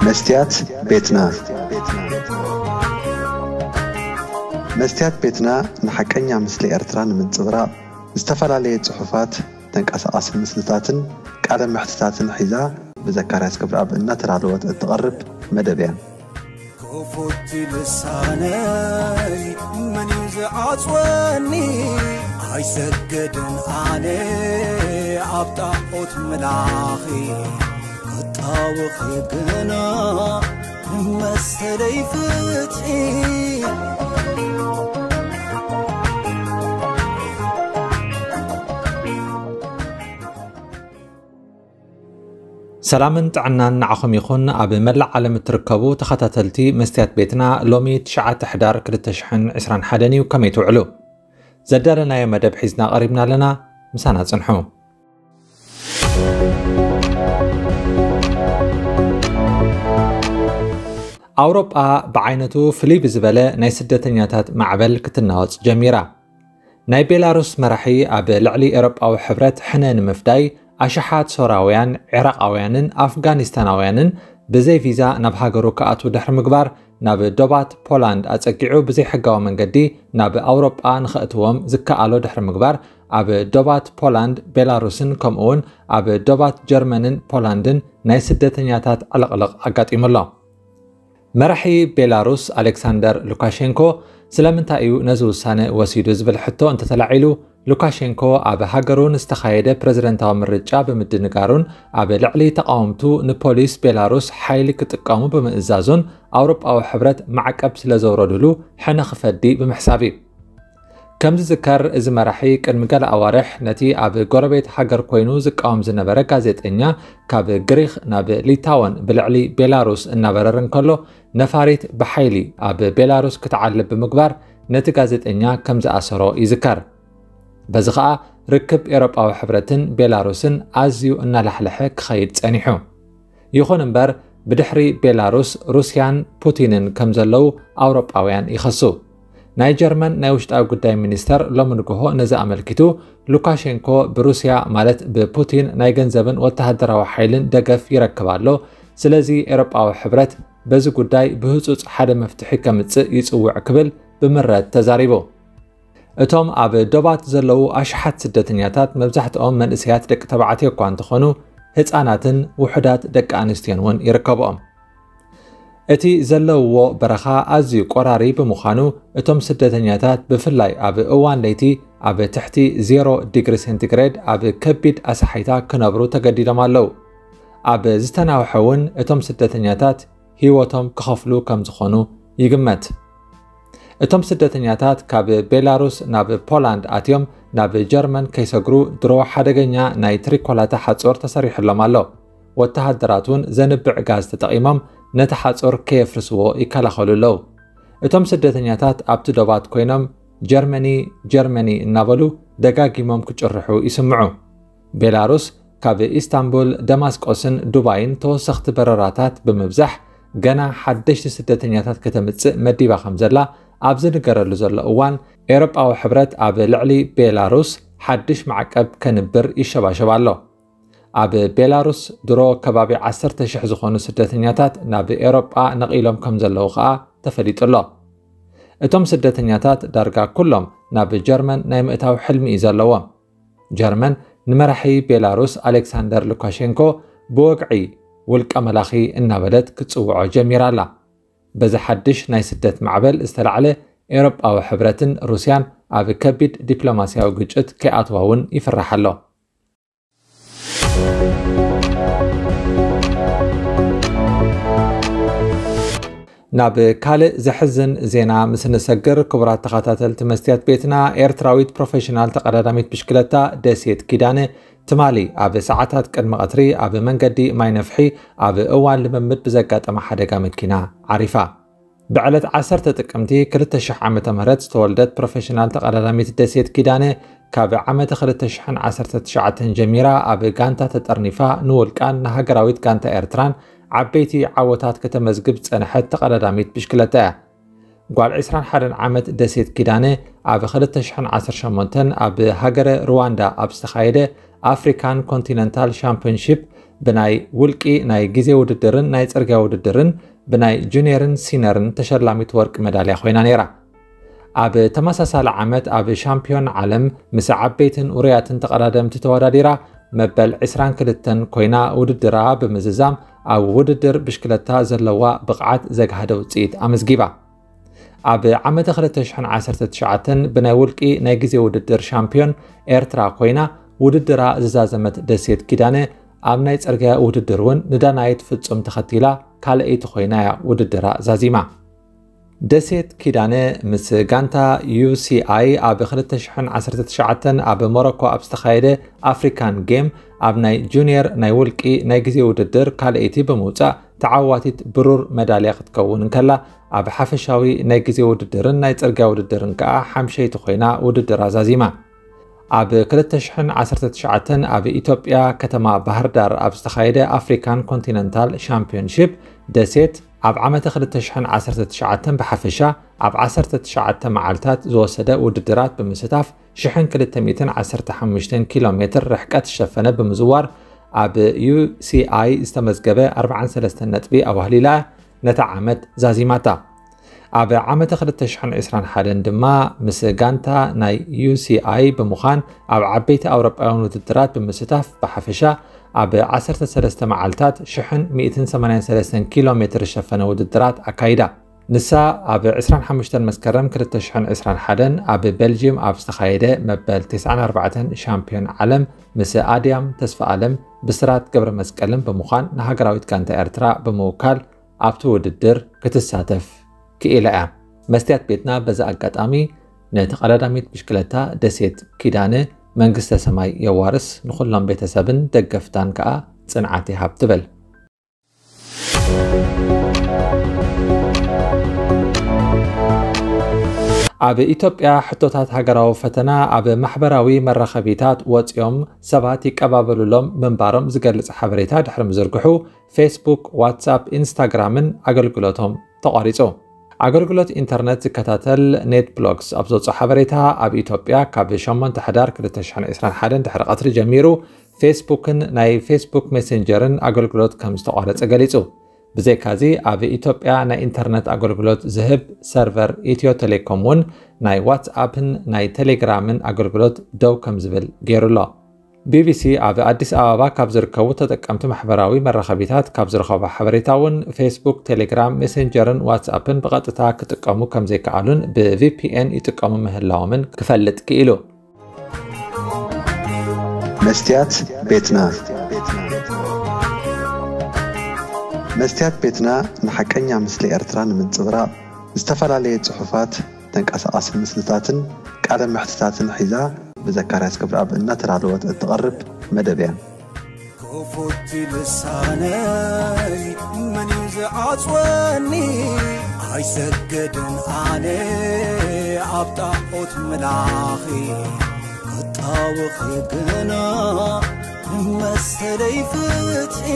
መስትያት ቤትና። መስትያት ቤትና ንሓቀኛ ምስሊ ኤርትራ ንምንጽብራቕ ዝተፈላለየ ጽሑፋት፣ ተንቀሳቓሲ ምስልታትን ቃለ መሕትታትን ሒዛ ብዘካርያስ ገብረኣብ እናተዳለወት እትቐርብ መደብ እያ። ክፉት ልሳነይ መን እዩ ዝዓጽወኒ? ኣይሰግድን ኣነ ኣብ ጣዖት ምላኺ፣ ክጣወኺ ግና መሰለይ ፍትሒ። ሰላምን ጥዕናን ንዓኹም ይኹን። ኣብ መላእ ዓለም እትርከቡ ተኸታተልቲ መስትያት ቤትና፣ ሎሚ ትሽዓተ ሕዳር ክልተ ሽሕን ዕስራን ሓደን እዩ። ከመይ ትውዕሉ? ዘዳለናዮ መደብ ሒዝና ቀሪብና ኣለና። ምሳና ጽንሑ። ኣውሮጳ ብዓይነቱ ፍልይ ብዝበለ ናይ ስደተኛታት ማዕበል ክትናወጽ ጀሚራ። ናይ ቤላሩስ መራሒ ኣብ ልዕሊ ኤውሮጳዊ ሕብረት ሕነ ንምፍዳይ፣ ኣሽሓት ሶራውያን፣ ዒራቓውያንን ኣፍጋኒስታናውያንን ብዘይ ቪዛ ናብ ሃገሩ ክኣትዉ ድሕሪ ምግባር፣ ናብ ዶባት ፖላንድ ኣጸጊዑ ብዘይሕጋዊ መንገዲ ናብ ኣውሮጳ ንኸእትዎም ዝከኣሎ ድሕሪ ምግባር፣ ኣብ ዶባት ፖላንድ፣ ቤላሩስን ከምኡውን ኣብ ዶባት ጀርመንን ፖላንድን ናይ ስደተኛታት ዕልቕልቕ ኣጋጢሙ ኣሎ። መራሒ ቤላሩስ ኣሌክሳንደር ሉካሼንኮ ስለምንታይ እዩ ነዚ ውሳነ ወሲዱ ዝብል ሕቶ እንተተላዒሉ፣ ሉካሼንኮ ኣብ ሃገሩ ንዝተኻየደ ፕረዚደንታዊ ምርጫ ብምድንጋሩን ኣብ ልዕሊ ተቓወምቱ ንፖሊስ ቤላሩስ ሓይሊ ክጥቀሙ ብምእዛዙን ኣውሮጳዊ ሕብረት ማዕቀብ ስለ ዘውረዱሉ ሕነ ክፈዲ ብምሕሳብ እዩ። ከም ዝዝከር፣ እዚ መራሒ ቅድሚ ገለ ኣዋርሕ ነቲ ኣብ ጎረቤት ሃገር ኮይኑ ዝቃወም ዝነበረ ጋዜጠኛ ካብ ግሪኽ ናብ ሊታወን ብልዕሊ ቤላሩስ እናበረረ እንከሎ፣ ነፋሪት ብሓይሊ ኣብ ቤላሩስ ክትዓልብ ብምግባር ነቲ ጋዜጠኛ ከም ዝኣሰሮ ይዝከር። በዚ ኸኣ ርክብ ኤውሮጳዊ ሕብረትን ቤላሩስን ኣዝዩ እናላሕለሐ ክኸይድ ጸኒሑ። ይኹን እምበር፣ ብድሕሪ ቤላሩስ፣ ሩስያን ፑቲንን ከም ዘለዉ ኣውሮጳውያን ይኸሱ። ናይ ጀርመን ናይ ውሽጣዊ ጉዳይ ሚኒስተር ሎሚ ንግሆ ነዚ ኣመልኪቱ፣ ሉካሼንኮ ብሩስያ፣ ማለት ብፑቲን፣ ናይ ገንዘብን ወተሃደራዊ ሓይልን ደገፍ ይረክብ ኣሎ። ስለዚ ኤውሮጳዊ ሕብረት በዚ ጉዳይ ብህጹጽ ሓደ መፍትሒ ከምጽእ ይጽውዕ ክብል ብምረት ተዛሪቡ። እቶም ኣብ ዶባት ዘለዉ ኣሽሓት ስደተኛታት መብዛሕትኦም መንእሰያት ደቂ ተባዕትዮ እኳ እንተኾኑ፣ ህጻናትን ውሑዳት ደቂ ኣንስትዮን እውን ይርከብኦም። እቲ ዘለውዎ በረኻ ኣዝዩ ቆራሪ ብምዃኑ፣ እቶም ስደተኛታት ብፍላይ ኣብ እዋን ለይቲ ኣብ ትሕቲ ዜሮ ዲግሪ ሴንቲግሬድ ኣብ ከቢድ ኣሳሒታ ክነብሩ ተገዲዶም ኣለዉ። ኣብ ዝተናውሐ እውን እቶም ስደተኛታት ህይወቶም ክኸፍሉ ከም ዝኾኑ ይግመት። እቶም ስደተኛታት ካብ ቤላሩስ ናብ ፖላንድ ኣትዮም ናብ ጀርመን ከይሰግሩ ድሮ ሓደገኛ ናይ ትሪኮላታ ሓጹር ተሰሪሑሎም ኣሎ። ወተሃደራት እውን ዘንብዕ ጋዝ ተጠቒሞም ነቲ ሓጹር ከየፍርስዎ ይከላኸሉ ኣለዉ። እቶም ስደተኛታት ኣብቲ ዶባት ኮይኖም ጀርመኒ፣ ጀርመኒ እናበሉ ደጋጊሞም ክጭርሑ ይስምዑ። ቤላሩስ ካብ ኢስታንቡል፣ ደማስቆስን ዱባይን ተወሰኽቲ በረራታት ብምብዛሕ ገና ሓደሽቲ ስደተኛታት ከተምጽእ መዲባ ከም ዘላ ኣብ ዝንገረሉ ዘሎ እዋን፣ ኤውሮጳዊ ሕብረት ኣብ ልዕሊ ቤላሩስ ሓድሽ ማዕቀብ ከንብር ይሸባሸብ ኣሎ። ኣብ ቤላሩስ ድሮ ከባቢ ዓሰርተ ሽሕ ዝኾኑ ስደተኛታት ናብ ኤውሮጳ ነቒሎም ከም ዘለዉ ኸኣ ተፈሊጡ ኣሎ። እቶም ስደተኛታት ዳርጋ ኩሎም ናብ ጀርመን ናይ ምእታው ሕልሚ እዩ ዘለዎም። ጀርመን ንመራሒ ቤላሩስ ኣሌክሳንደር ሉካሼንኮ ብወግዒ ውልቀ መላኺ እናበለት ክትጽውዖ ጀሚራ ኣላ። በዚ ሓድሽ ናይ ስደት ማዕበል ዝተላዕለ ኤውሮጳዊ ሕብረትን ሩስያን ኣብ ከቢድ ዲፕሎማስያዊ ግጭት ከይኣትዋ እውን ይፍራሕ ኣሎ። ናብ ካልእ ዘሕዝን ዜና ምስ ንሰግር፣ ክቡራት ተኸታተልቲ መስትያት ቤትና፣ ኤርትራዊት ፕሮፌሽናል ተቐዳዳሚት ብሽክለታ ደሴት ኪዳነ ትማሊ ኣብ ሰዓታት ቅድሚ ቀትሪ ኣብ መንገዲ ማይ ነፍሒ ኣብ እዋን ልምምድ ብዘጋጠማ ሓደጋ መኪና ዓሪፋ። ብዕለት ዓሰርተ ጥቅምቲ ክልተ ሽሕ ዓመተ ምህረት ዝተወልደት ፕሮፌሽናል ተቐዳዳሚት ደሴት ኪዳነ፣ ካብ ዓመተ ክልተ ሽሕን ዓሰርተ ትሽዓተን ጀሚራ ኣብ ጋንታ ተጠርኒፋ ንውልቃን ንሃገራዊት ጋንታ ኤርትራን ዓበይቲ ዓወታት ከተመዝግብ ዝጸንሐት ተቐዳዳሚት ብሽክለታ እያ። ጓል ዕስራን ሓደን ዓመት ደሴት ኪዳነ፣ ኣብ ክልተ ሽሕን ዓሰርተ ሸሞንተን ኣብ ሃገረ ሩዋንዳ ኣብ ዝተኻየደ ኣፍሪካን ኮንቲነንታል ሻምፒዮንሺፕ ብናይ ውልቂ ናይ ግዜ ውድድርን ናይ ጽርግያ ውድድርን ብናይ ጁኒየርን ሲነርን ተሸላሚት ወርቂ መዳልያ ኮይና ነይራ። ኣብ ተመሳሳሊ ዓመት ኣብ ሻምፒዮን ዓለም ምስ ዓበይትን ውሩያትን ተቐዳደምቲ ተወዳዲራ መበል ዕስራን ክልተን ኮይና ውድድራ ብምዝዛም ኣብ ውድድር ብሽክለታ ዘለዋ ብቕዓት ዘግሃደ ውፅኢት ኣመዝጊባ። ኣብ ዓመተ ክልተ ሽሕን ዓሰርተ ትሽዓተን ብናይ ውልቂ ናይ ግዜ ውድድር ሻምፒዮን ኤርትራ ኮይና ውድድራ ዝዛዘመት ደሴት ኪዳነ ኣብ ናይ ጽርግያ ውድድር እውን ንዳናይት ፍጹም ተኸቲላ ካልኣይቲ ኮይና እያ ውድድራ ዛዚማ። ደሴት ኪዳነ ምስ ጋንታ ዩ ሲ ኣይ ኣብ ክልተ ሽሕን ዓሰርተ ትሽዓተን ኣብ ሞሮኮ ኣብ ዝተኻየደ ኣፍሪካን ጌም ኣብ ናይ ጁኒየር ናይ ውልቂ ናይ ግዜ ውድድር ካልኣይቲ ብምውጻእ ተዓዋቲት ብሩር መዳልያ ክትከውን እንከላ፣ ኣብ ሓፈሻዊ ናይ ግዜ ውድድርን ናይ ጽርግያ ውድድርን ከኣ ሓምሸይቲ ኮይና ውድድራ ዛዚማ። ኣብ ክልተ ሽሕን ዓሰርተ ትሽዓተን ኣብ ኢትዮጵያ ከተማ ባህር ዳር ኣብ ዝተኻየደ ኣፍሪካን ኮንቲነንታል ሻምፒዮንሺፕ ደሴት ኣብ ዓመተ ክልተ ሽሕን ዓሰርተ ትሽዓተን ብሓፈሻ ኣብ ዓሰርተ ትሽዓተ መዓልታት ዝወሰደ ውድድራት ብምስታፍ ሽሕን ክልተ ሚእትን ዓሰርተ ሓሙሽተን ኪሎ ሜትር ርሕቀት ዝሸፈነ ብምዝዋር ኣብ ዩ ሲ ኣይ ዝተመዝገበ ኣርባዓን ሰለስተን ነጥቢ ኣዋህሊላ ነታ ዓመት ዛዚማታ። ኣብ ዓመተ ክልተ ሽሕን ዕስራን ሓደን ድማ ምስ ጋንታ ናይ ዩ ሲ ኣይ ብምዃን ኣብ ዓበይቲ ኣውሮጳውያን ውድድራት ብምስታፍ ብሓፈሻ ኣብ ዓሰርተ ሰለስተ መዓልታት ሽሕን ሚእትን ሰማንያን ሰለስተን ኪሎ ሜትር ዝሸፈነ ውድድራት ኣካይዳ። ንሳ ኣብ ዕስራን ሓሙሽተን መስከረም ክልተ ሽሕን ዕስራን ሓደን ኣብ ቤልጅየም ኣብ ዝተኻየደ መበል ተስዓን ኣርባዕተን ሻምፒዮን ዓለም ምስ ኣድያም ተስፋኣለም፣ ብስራት ገብረ መስቀልን ብምዃን ንሃገራዊት ጋንታ ኤርትራ ብምውካል ኣብቲ ውድድር ክትሳተፍ ክኢላ እያ። መስትያት ቤትና በዚ ኣጋጣሚ ነቲ ቀዳዳሚት ብሽክለታ ደሴት ኪዳነ መንግስተ ሰማይ የዋርስ፣ ንኹሎም ቤተሰብን ደገፍታን ከኣ ጽንዓት ይሃብ ትብል። ኣብ ኢትዮጵያ ሕቶታት ሃገራዊ ፈተና ኣብ ማሕበራዊ መራኸቢታት ወፂኦም ሰባት ይቀባበሉሎም ምንባሮም ዝገልጽ ሓበሬታ ድሕሪ ምዝርግሑ ፌስቡክ፣ ዋትሳፕ፣ ኢንስታግራምን ኣገልግሎቶም ተቋሪጹ። ኣገልግሎት ኢንተርነት ዝከታተል ኔት ብሎክስ ኣብ ዘውፅኦ ሓበሬታ ኣብ ኢትዮጵያ ካብ ሸሞንተ ሕዳር ክልተ ሽሕን ዕስራን ሓደን ድሕሪ ቀትሪ ጀሚሩ ፌስቡክን ናይ ፌስቡክ ሜሴንጀርን ኣገልግሎት ከም ዝተቋረጸ ገሊጹ። ብዘይካዚ ኣብ ኢትዮጵያ ናይ ኢንተርነት ኣገልግሎት ዝህብ ሰርቨር ኢትዮ ቴሌኮም እውን ናይ ዋትስኣፕን ናይ ቴሌግራምን ኣገልግሎት ደው ከም ዝብል ገይሩ ኣሎ። ቢ ቢ ሲ ኣብ ኣዲስ ኣበባ ካብ ዝርከቡ ተጠቀምቲ ማሕበራዊ መራኸቢታት ካብ ዝረኸቦ ሓበሬታ እውን ፌስቡክ፣ ቴሌግራም፣ ሜሴንጀርን ዋትስኣፕን ብቐጥታ ክጥቀሙ ከም ዘይከኣሉን ብ ቪ ፒ ኤን ይጥቀሙ ምህላዎምን ክፈልጥ ክኢሉ። መስትያት ቤትና። መስትያት ቤትና ንሓቀኛ ምስሊ ኤርትራ ንምንጽብራቕ ዝተፈላለየ ጽሑፋት፣ ተንቀሳቓሲ ምስልታትን ቃለ መሕትታትን ሒዛ ብዘካርያስ ገብረኣብ እናተዳለወት እትቐርብ መደብ እያ። ክፉት ልሳነይ መን እዩ ዝዓጽወኒ? ኣይሰግድን ኣነ ኣብ ጣዖት ምላኺ ክጣወኺ ግና መሰለይ ፍትሒ